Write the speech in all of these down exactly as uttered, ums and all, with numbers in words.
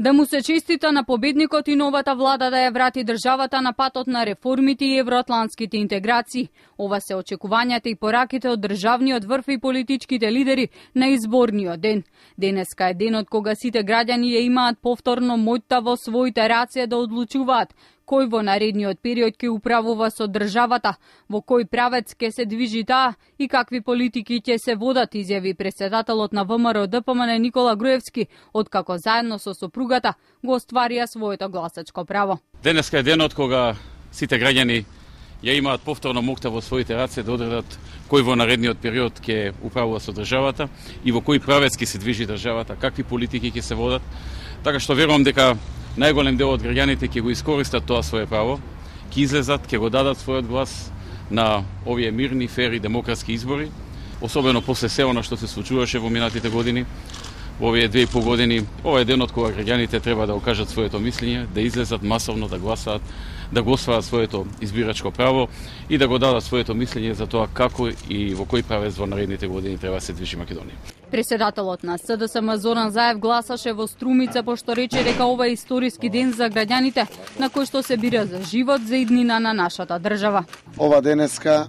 Да му се честита на победникот и новата влада да ја врати државата на патот на реформите и евроатлантските интеграции. Ова се очекувањата и пораките од државниот врв и политичките лидери на изборниот ден. Денеска е денот кога сите граѓани ја имаат повторно моќта во своите раце да одлучуваат кој во наредниот период ќе управува со државата, во кој правец ќе се движи таа и какви политики ќе се водат, изјави претседателот на ВМРО Д П М Н Никола Груевски, откако заедно со сопругата го остварија своето гласачко право. Денеска е денот кога сите граѓани ја имаат повторно моќта во своите раце да одредат кој во наредниот период ќе управува со државата и во кој правец ќе се движи државата, какви политики ќе се водат. Така што верувам дека најголем дел од граѓаните ќе го искористат тоа свое право, ќе излезат, ќе го дадат својот глас на овие мирни, фери, демократски избори, особено после се она што се случуваше во минатите години, во овие две и пол години. Ова е денот кога граѓаните треба да окажат своето мислење, да излезат масовно, да гласаат, да го остварат своето избирачко право и да го дадат своето мислење за тоа како и во кој правец во наредните години треба да се движи Македонија. Преседателот на С Д С М Зоран Заев гласаше во Струмица, пошто рече дека ова е историски ден за граѓаните, на кој што се бира за живот, за иднина на нашата држава. Ова денеска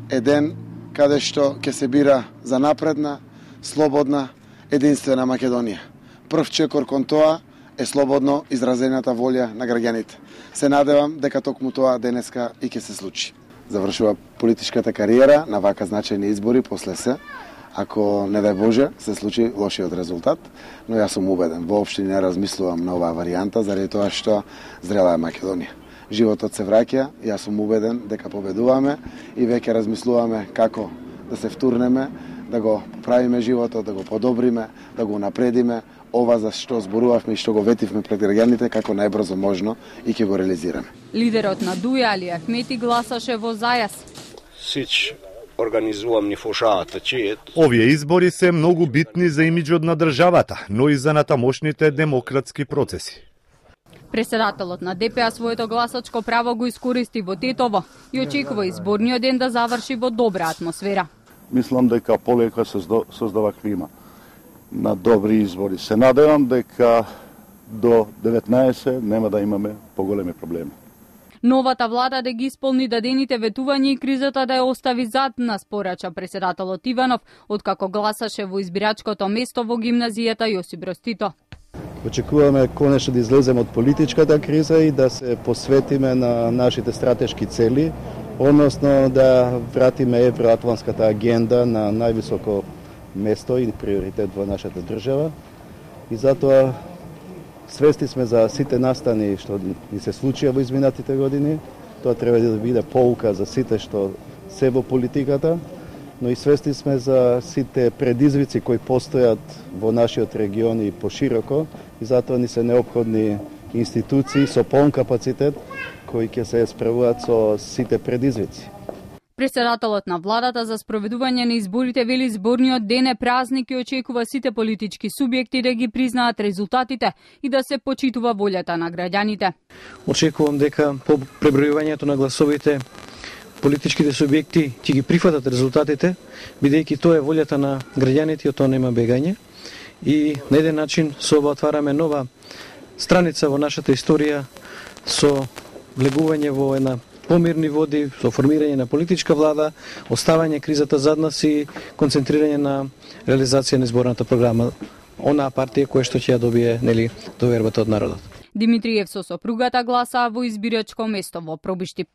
е ден каде што ќе се бира за напредна, слободна, единствена Македонија. Прв чекор кон тоа е слободно изразената волја на граѓаните. Се надевам дека токму тоа денеска и ќе се случи. Завршува политичката кариера на вака значајни избори после се, ако не дај Боже се случи лошиот резултат, но јас сум убеден, воопшто не размислувам на оваа варијанта заради тоа што зрела е Македонија. Животот се враќа, јас сум убеден дека победуваме и веќе размислуваме како да се втурнеме, да го поправиме животот, да го подобриме, да го напредиме, ова за што зборувавме и што го ветивме пред граѓаните како најбрзо можно и ќе го реализираме. Лидерот на Дуја Али Ахмети гласаше во Зајас. Сич организувам ни фошаата чиет. Овие избори се многу битни за имиџот на државата, но и за натамошните демократски процеси. Преседателот на Д П А своето гласачко право го искористи во Тетово и очекува изборниот ден да заврши во добра атмосфера. Мислам дека полека се создава клима на добри избори. Се надевам дека до деветнаесет нема да имаме поголеми проблеми. Новата влада да ги исполни дадените ветувања и кризата да ја остави зад нас, порача преседателот Иванов, откако гласаше во избирачкото место во гимназијата Јосип Броз Тито. Очекуваме конечно да излеземе од политичката криза и да се посветиме на нашите стратешки цели, односно да вратиме евроатлантската агенда на највисоко место и приоритет во нашата држава. И затоа свести сме за сите настани што ни се случија во изминатите години. Тоа треба да биде поука за сите што се во политиката, но и свести сме за сите предизвици кои постојат во нашиот регион и пошироко, и затоа ни се неопходни институции со полн капацитет кои ќе се справуваат со сите предизвици. Преседателот на владата за спроведување на изборите вели изборниот ден е празник и очекува сите политички субјекти да ги признаат резултатите и да се почитува волјата на граѓаните. Очекувам дека по пребројувањето на гласовите политичките субјекти ќе ги прифатат резултатите, бидејќи тоа е волјата на граѓаните и од тоа нема бегање. И на еден начин со ова отвараме нова страница во нашата историја со влегување во една помирни води, со формирање на политичка влада, оставање кризата зад нас и концентрирање на реализација на изборната програма, онаа партија која што ќе ја добие, нели, довербата од народот. Димитриев со сопругата гласаа во избирачко место во Пробиштип.